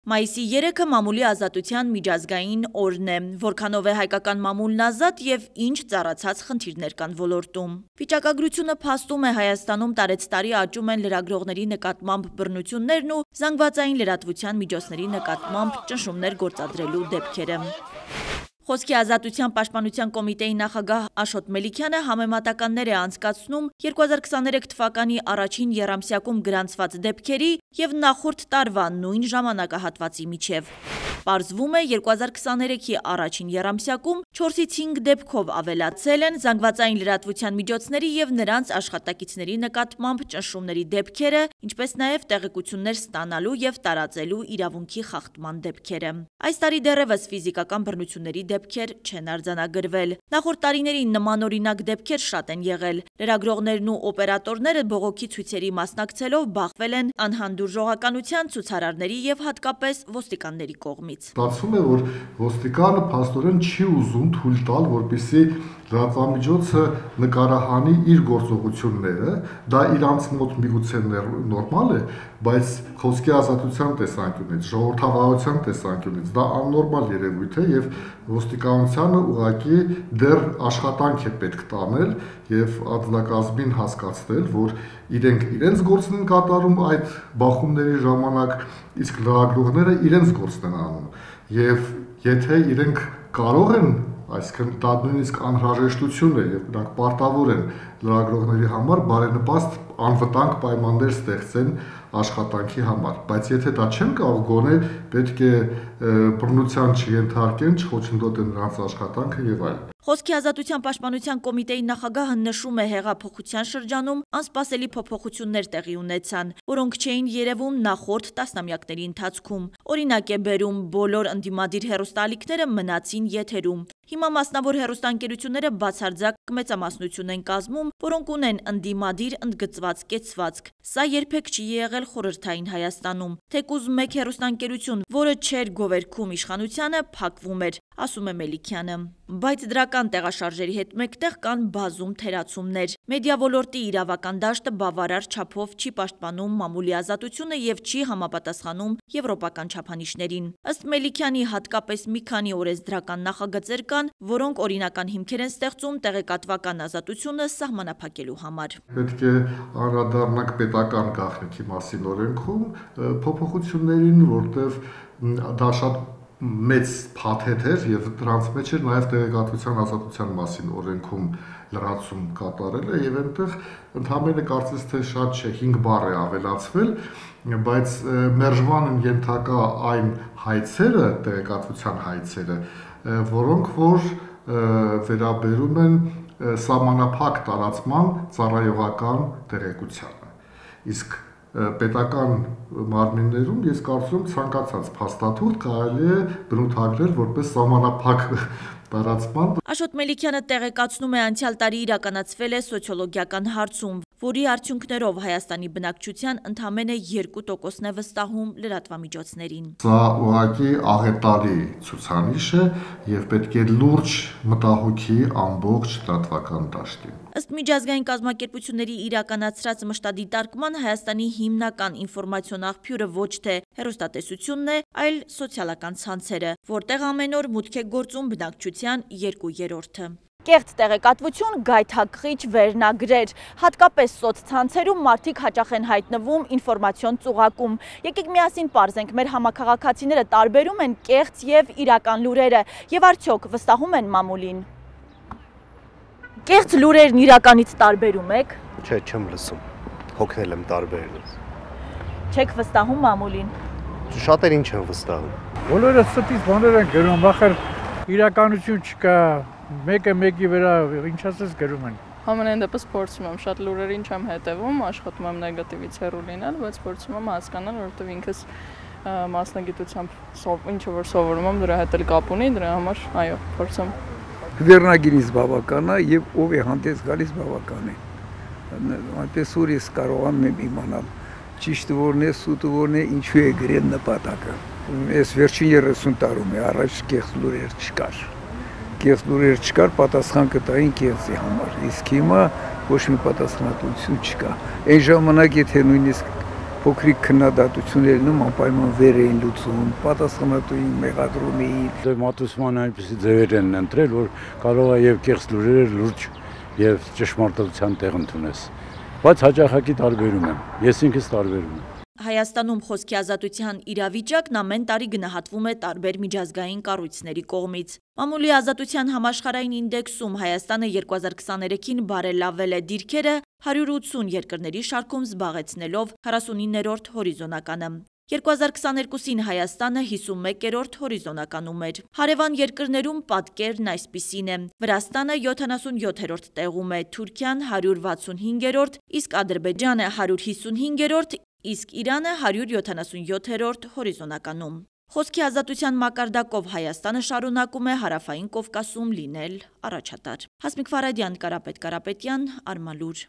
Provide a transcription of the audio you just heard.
Մայիսի 3-ը մամուլի ազատության միջազգային օրն է, որքանով է հայկական մամուլն ազատ եւ ինչ ծառացած խնդիրներ կան ոլորտում։ Վիճակագրությունը փաստում է Հայաստանում տարեցտարի աճում են լրագրողների նկատմամբ բռնություններն ու զանգվածային լրատվության միջոցների նկատմամբ ճնշումներ գործադրելու դեպքերը։ Խոսքի ազատության պաշտպանության կոմիտեի նախագահ Աշոտ Մելիքյանը համեմատականներ է անցկացնում 2023 թվականի առաջին եռամսյակում գրանցված դեպքերի եւ նախորդ տարվա նույն ժամանակահատվածի միջև։ Պարզվում է 2023-ի առաջին եռամսյակում 4-ից 5 դեպքով ավելացել են զանգվածային լրատվության միջոցների եւ նրանց աշխատակիցների նկատմամբ ճնշումների դեպքերը, ինչպես նաեւ տեղեկություններ ստանալու եւ տարածելու իրավունքի խախտման դեպքերը։ Այս տարի դեռևս ֆիզիկական բռնությունների դեպքեր չեն արձանագրվել։ Նախորդ տարիներին նմանօրինակ դեպքեր շատ են եղել։ Լրագրողներն ու օպերատորները բողոքի ցույցերի մասնակցելով բախվել են անհանդուրժողականության, ցուցարարների եւ հատկապես ոստիկանների կողմից։ Ստացվում է, որ ոստիկանը փաստորեն չի ուզում թույլ տալ, որպեսզի լրատվամիջոցը նկարահանի իր գործողությունները, դա իրանց մոտ միգուցե նորմալ է, բայց խոսքի ազատության տեսանկյունից, ժողովրդավարության տեսանկյունից դա աննորմալ երևույթ է եւ ոստիկանությանը ուղղակի դեռ աշխատանք է պետք տանել եւ ադլակազմին հասկացնել, որ իրենք իրենց գործն են կատարում այդ բախումների ժամանակ, իսկ լրագրողները իրենց գործն են անում եւ եթե իրենք կարող են, այսինքն դա նույնիսկ անհրաժեշտություն է եւ նրանք պարտավոր են լրագրողների համար բարենպաստ անվտանգ պայմաններ ստեղծեն աշխատանքի համար, բայց եթե դա չեն կարող, գոնե պետք է բռնության չենթարկեն, չխոչընդոտեն նրանց աշխատանքը եւ այլն։ Խոսքի ազատության պաշտպանության կոմիտեի նախագահը նշում է հեղափոխության շրջանում անսպասելի փոփոխություններ տեղի ունեցան, որոնք չէին երևում նախորդ տասնամյակների ընթացքում։ Օրինակ է բերում բոլոր ընդդիմադիր հեռուստաալիքները մնացին եթերում։ Հիմա մասնավոր հեռուստաընկերությունները բացարձակ մեծամասնություն են կազմում, որոնք ունեն ընդդիմադիր ընդգծված կեցվածք։ Սա երբեք չի եղել խորհրդային Հայաստանում։ Թեկուզ մեկ հեռուստաընկերություն, որը չէր գովերգում իշխանությանը, փակվում էր, ասում է Մելիքյանը։ Բայց դրական տեղաշարժերի հետ մեկտեղ կան բազում թերացումներ։ Մեդիա ոլորտի իրավական դաշտը բավարար չափով չի պաշտպանում մամուլի ազատությունը եւ չի համապատասխանում եվրոպական չափանիշներին։ Ըստ Մելիքյանի հատկապես մի քանի օրենսդրական նախագծեր կան, որոնք օրինական հիմքեր են ստեղծում տեղեկատվական ազատությունը սահմանափակելու համար։ Պետք է անդրադառնանք պետական գաղտնիքի մասին օրենքում փոփոխություններին, որտեղ դա շատ մեծ փաթեթ էր եւ դրանց մեջ էր նաեւ տեղեկատվության ազատության մասին օրենքում լրացում կատարելը եւ այնտեղ ընդհանրապես կարծես թե շատ չէ 5 բառ է ավելացվել, բայց մերժման են ենթակա այն հայցերը, տեղեկատվության հայցերը, որոնք որ վերաբերում են սահմանափակ տարածման ծառայողական տեղեկությանը։ Իսկ պետական մարմիններում ես կարծում եմ ցանկացած փաստաթուղթ կարելի է բնութագրել որպես սահմանափակ տարածման։ Աշոտ Մելիքյանը տեղեկացնում է անցյալ տարի իրականացվել է սոցիոլոգիական հարցում, որի արդյունքներով Հայաստանի բնակչության ընդամենը 2%-ն է վստահում լրատվամիջոցներին։ Սա ուղղակի աղետալի ցուցանիշ է եւ պետք է լուրջ մտահոգի ամբողջ լրատվական դաշտին։ Ըստ միջազգային կազմակերպությունների իրականացրած մշտադիտարկման Հայաստանի հիմնական ինֆորմացիոն աղբյուրը ոչ թե հեռուստատեսությունն է, այլ սոցիալական ցանցերը, որտեղ ամեն օր մուտք է գործում բնակչության 2/3-ը։ Կեղծ տեղեկատվություն, գայթակղիչ վերնագրեր, հատկապես սոցցանցերում մարդիկ հաճախ են հայտնվում ինֆորմացիոն ծուղակում։ Եկեք միասին պարզենք, մեր համակարգացիները տարբերում են կեղծ եւ իրական լուրերը եւ արդյոք վստահում են մամուլին։ Կեղծ լուրերն իրականից տարբերում եք։ Չէ, չեմ լսում։ Հոգնել եմ տարբերելուց։ Չեք վստահում մամուլին։ Շատերին չեմ վստահում։ Բոլորը ստից բաներ են գրում, բախր իրականություն չկա, մեկը մեկի վրա ինչ ասես գրում են։ Համենայն դեպս փորձում եմ շատ լուրերին չեմ հետևում, աշխատում եմ նեգատիվից հեռու լինել, բայց փորձում եմ հասկանալ, որովհետև ինքս մասնագիտությամբ ինչ որ սովորում եմ, դրա հետ էլ կապ ունի, դրա համար այո, փորձում։ Վերնագիրից բավական է եւ ով է հանդես գալիս բավական է։ Այնպես որ ես կարողանում եմ իմանալ ճիշտ որն է, սուտը որն է, ինչու է գրել նպատակը։ Ես վերջին 30 տարում է առաջ կեղծ լուրեր չկար։ Կեղծ լուրեր չկար, պատասխան կտային կեղծի համար։ Իսկ հիմա ոչ մի պատասխանատվություն չկա։ Այն ժամանակ եթե նույնիսկ փոքրիկ քննադատություններն անպայման վեր էին լուծում, պատասխանատուին մեղադրում էին։ Դե մատուցման այնպիսի ձևեր են ընտրել, որ կարող է եւ կեղծ լուրերը լուրջ եւ ճշմարտության տեղ ընդունես։ Բայց հաճախակի տարբերում եմ։ Ես ինքս տարբերում եմ։ Հայաստանում խոսքի ազատության իրավիճակն ամեն տարի գնահատվում է տարբեր միջազգային կառույցների կողմից։ Մամուլի ազատության համաշխարհային ինդեքսում Հայաստանը 2023-ին բարելավել է դիրքերը 180 երկրների շարքում զբաղեցնելով 49-րդ հորիզոնականը։ 2022-ին Հայաստանը 51-րդ հորիզոնականում էր։ Հարևան երկրներում պատկերն այսպիսին է. Վրաստանը 77-րդ տեղում է, Թուրքիան 165-րդ, իսկ Ադրբեջանը 155-րդ, իսկ Իրանը 177-րդ հորիզոնականում։ Խոսքի ազատության մակարդակով Հայաստանը շարունակում է Հարավային Կովկասում լինել առաջատար։ Հասմիկ Ֆարադյան, Կարապետ Կարապետյան, Արմալուր։